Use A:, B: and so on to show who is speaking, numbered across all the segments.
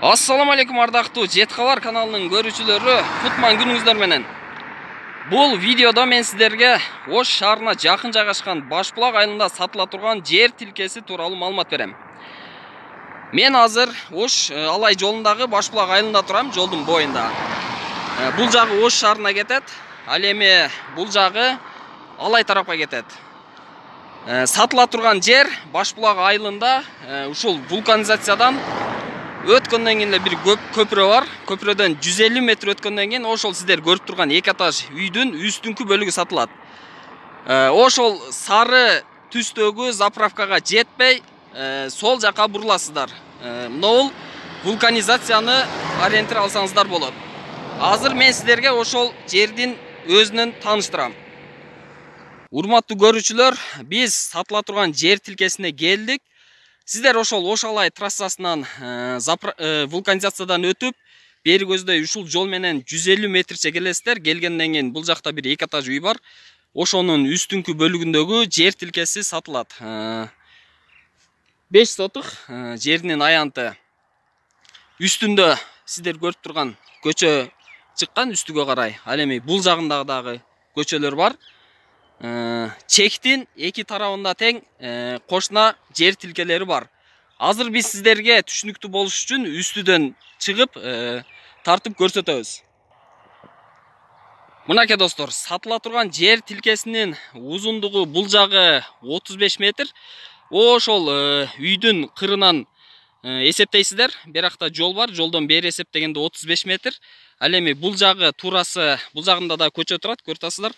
A: Ассаламу алейкум ардактуу Жет Кабар каналынын көрүүчүлөрү, кутман күнүңүздөр менен. Бул видеодо мен сиздерге Ош шаарына жакын жайгашкан Башбулак айылында сатыла турган жер тилкеси тууралуу маалымат берем. Мен азыр Ош Алай жолундагы Башбулак айылында турам, жолдун боюнда. Бул жагы Ош шаарына кетет, ал эми бул жагы Алай тарапка кетет. Сатыла турган жер Башбулак айылында ушул вулканизациядан өткөндөн кийин бир көпүрө бар. Көпүрөдөн 150 метр өткөндөн кийин ошол сиздер көрүп турган 2 этаж үйдүн үстүнкү бөлүгү сатылат. Ошол сары түстөгү заправкага жетпей, сол жака буруласыздар. Могул вулканизацияны ориентир алсаңыздар болот. Азыр мен сиздерге ошол жердин өзүнөн тааныштырам. Урматтуу көрүүчүлөр, биз сатыла турган жер тилкесине келдик. Сиздер ошол Ош Алай трассасынан вулканизациядан өтүп, бери көздөй ушул жол менен 150 метрче келесиздер. Келгенден кийин бул жакта бир 2 этаж үй бар. Ошонун үстүнкү бөлүгүндөгү жер тилкеси сатылат. 5 сотук жеринин аянты. Үстүндө сиздер көрүп турган көчө чыккан үстүгө карай. Ал эми бул жагында дагы көчөлөр бар. Чектин эки тарабында тең кошуна жер тилкелери бар. Азыр биз сиздерге түшүнүктүү болуш үчүн үстүдөн чыгып тартып көрсөтөбүз. Мынакей достор, сатыла турган жер тилкесинин узундугу бул жагы 35 метр. Ошол үйдүн кырынан эсептейсиздер. Биракта жол бар, жолдон бери эсептегенде 35 метр. Ал эми бул жагы туурасы, бул жагында да көчө турат, көрүп атасыздар.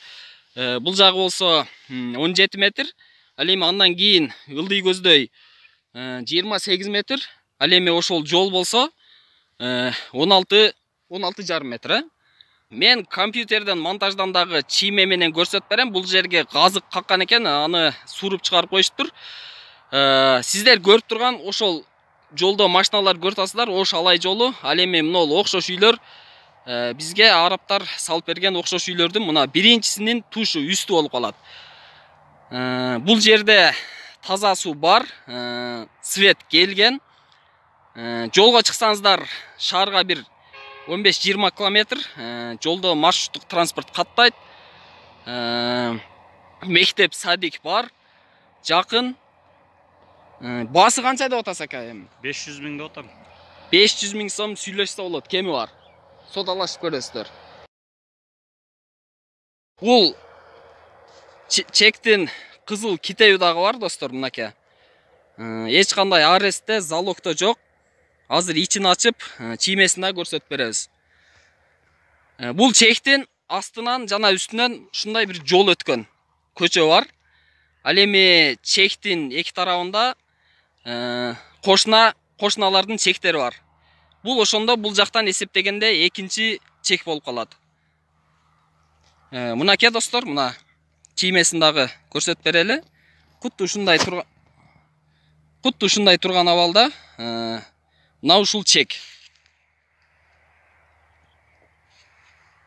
A: Бул жагы болсо 17 метр. Ал эми андан кийин ылдый көздөй 28 метр. Ал эми ошол жол болсо 16,5 метр. Мен компьютерден монтаждандагы чийме менен көрсөтүп берем. Бул жерге газык каккан экен, аны сууруп чыгарып коюштур. Сиздер көрүп турган ошол жолдо машиналар көрүп атасыздар, Ош Алай жолу. Ал эми мына окшош үйлөр бизге арабтар салып берген окшош үйлөрдүн мына биринчисинин тушу үстү болуп калат. Бул жерде таза суу бар, свет келген. Жолго чыксаңыздар шаарга бир 15-20 километр. Жолдо маршруттук транспорт каттайт. Мектеп, садик бар, жакын. Баасы канча деп атасыз ака эми?
B: 500 000 деп атам.
A: 500 000 сом сүйлөшсө болот, кеми бар. Содалашып көрөсүздөр. Бул чектин кызыл китеби дагы бар достор, мынакей. Эч кандай арестте, залогто жок. Азыр ичин ачып, чиймесин да көрсөтүп беребиз. Бул чектин астынан жана үстүнөн ушундай бир жол өткөн. Көчө бар. Ал эми чектин эки тарабында кошуналардын чектери бар. Бул ошондо бул жактан эсептегенде экинчи чек болуп калат. Мынакей достор, мына чиймесин дагы көрсөтүп берели. Куту ушундай турган абалда мына ушул чек.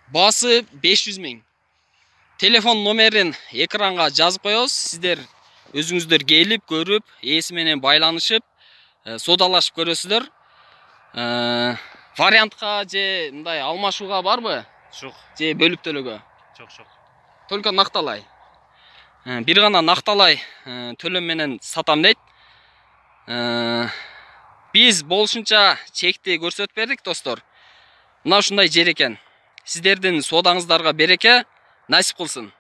A: Баасы 500 000. Телефон номерин экранга жазып коебуз. Сиздер өзүңүздөр келип, көрүп, ээси менен байланышып, содалашып көрөсүздөр. Вариантка же мындай алмашууга барбы?
B: Жок.
A: Же бөлүп төлөгө?
B: Жок.
A: Только накталай. Бир гана накталай төлөм менен сатам дейт. Биз болушунча чекти көрсөтүп бердик достор. Мына ушундай жер экен. Сиздердин содаңыздарга береке, насип кылсын.